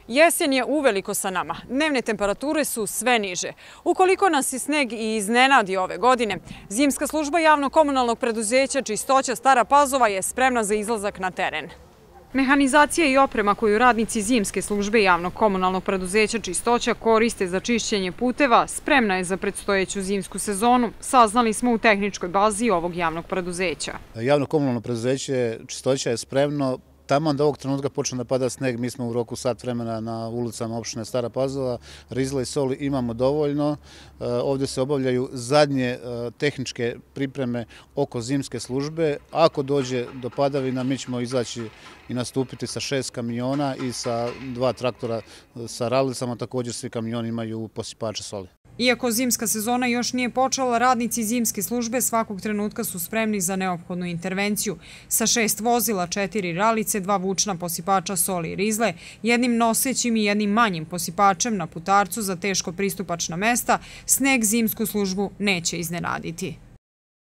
Jesen je uveliko sa nama. Dnevne temperature su sve niže. Ukoliko nas je sneg i iznenadi ove godine, zimska služba javno-komunalnog preduzeća Čistoća Stara Pazova je spremna za izlazak na teren. Mehanizacija i oprema koju radnici zimske službe javno-komunalnog preduzeća Čistoća koriste za čišćenje puteva spremna je za predstojeću zimsku sezonu, saznali smo u tehničkoj bazi ovog javnog preduzeća. Javno-komunalno preduzeće Čistoća je spremno. Taman da ovog trenutka počne da pada sneg, mi smo u roku sat vremena na ulicama opštine Stara Pazova. Rizla i soli imamo dovoljno. Ovdje se obavljaju zadnje tehničke pripreme oko zimske službe. Ako dođe do padavina, mi ćemo izaći i nastupiti sa 6 kamiona i sa 2 traktora sa ralicama. Također svi kamioni imaju posipače soli. Iako zimska sezona još nije počela, radnici zimske službe svakog trenutka su spremni za neophodnu intervenciju. Sa 6 vozila, 4 ralice, 2 vučna posipača soli i rizle, jednim nosećim i jednim manjim posipačem na putarcu za teško pristupačna mesta, sneg zimsku službu neće iznenaditi.